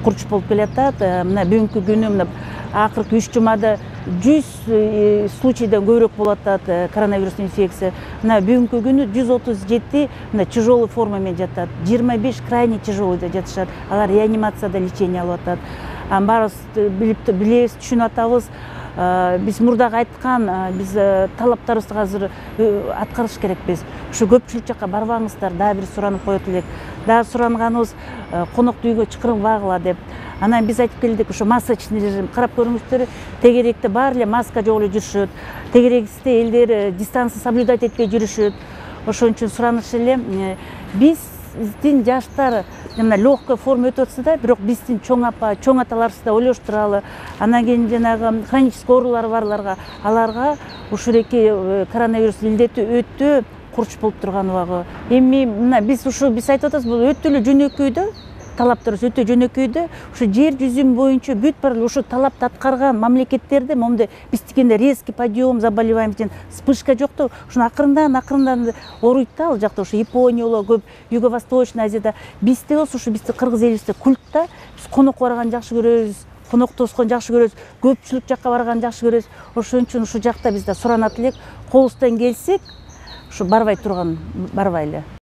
курч болуп келатат. Мына бүгүнкү күнү мына акыркы 3 жумада 100 случайдан көбүрөөк болуп атат коронавирус инфекция. Мына бүгүнкү күнү 137 мына тяжелый форма менен жатат. 25 крайне тяжелыйда жатышат. Алар реанимацияда лечение алып атат. Баарыбыз билебиз, түшүнүп атабыз. Биз мурдагы айткан биз талаптарыбызды азыр аткарыш керекпиз. Ушу көпчүлүк жакка барбаңыздар, дагы бир суранып коет элек. Дагы суранганыбыз коноктуу үйгө чакырбагыла деп. Анан биз айтып келдик, ушу масочный режим. Карап көрүңүздөр, тегеректе баары эле маска жок эле жүрүшөт. Тегеректе элдер дистанция соблюдать этпей жүрүшөт. Ошон үчүн сураныш эле биздин жаштар мына легкая форма өтүп атса да, бирок биздин чоң апа, чоң аталарыбызды да ойлоштуралы. Анан кийин жанагы хронический оорулары барларга, аларга ушуреки коронавирус илдети өтө курч болуп турган убагы. Эми мына биз айтып атабыз, бул өтө эле жөнөкөй да. Талаптарыбыз өтө жөнөкөй да. Ушу жер жүзүнүн боюнча бүт баары ушу талапты аткарган мамлекеттерде момундай биз дегенде резкий подъем заболеваемости, вспышка жок да. Ушуну акырындан ооруйт да ал жакта. Ушу Япония көп, Юго-Восточный Азияда. Бизде болсо ушу биздин кыргыз элибизде культ да. Биз конок барганды жакшы көрөбүз, конок тосконду жакшы көрөбүз, көпчүлүк жакка барганды жакшы көрөбүз. Ошон үчүн ушу жакта бизде суранат элек, колубуздан келсек, ушу барбай эле.